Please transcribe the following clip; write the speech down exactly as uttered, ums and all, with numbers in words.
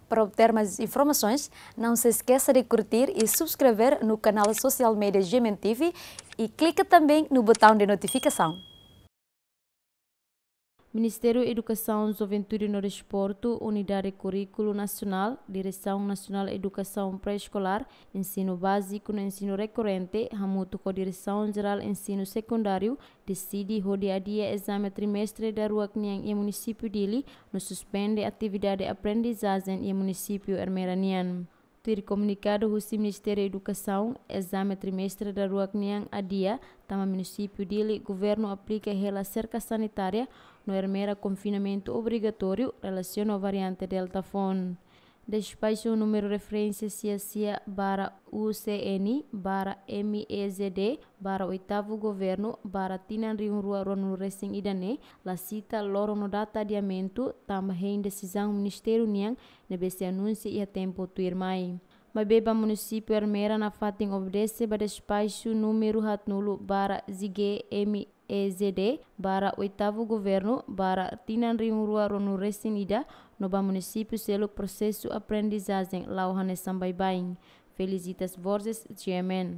Para obter mais informações, não se esqueça de curtir e subscrever no canal social media G M N T V e clica também no botão de notificação. Ministériu Edukasaun, Juventude no Desportu, Unidade Kurríkulu Nasionál, Diresaun Nasionál Edukasaun Pré-Eskolár, Ensinu Báziku no Ensinu Rekorrente, hamutuk ho Diresaun Jerál Ensinu Sekundáriu, deside hodi adia ezame trimestre daruak nian iha munisípiu Dili, no suspende atividade aprendizajen iha munisípiu Ermera nian. Tuir komunikadu husi Ministériu Edukasaun, ezame trimestre daruak nian adia, tanba munisípiu Dili, governu aplika hela serka sanitária, no Ermera konfinamentu obrigatóriu, relasiona ho variante Delta foun. Despaxu númeru referénsia sia sia barra U C N barra M E Z D barra oitavu governu barra tinan rihun rua ruanulu resin ida ne'e, la sita loron no data adiamentu, tanba hein desizaun ministériu nian, ne'ebé sei anunsia iha tempu tuirmai. Maibé ba munisípiu Ermera nafatin obedese ba despaxu númeru haatnulu barra Z G M E Z D barra oitavu governu barra tinan rihun rua ruanulu resin ida, no ba munisípiu seluk prosesu aprendizajen la'o hanesan baibain. Felicitas Borges, G M N.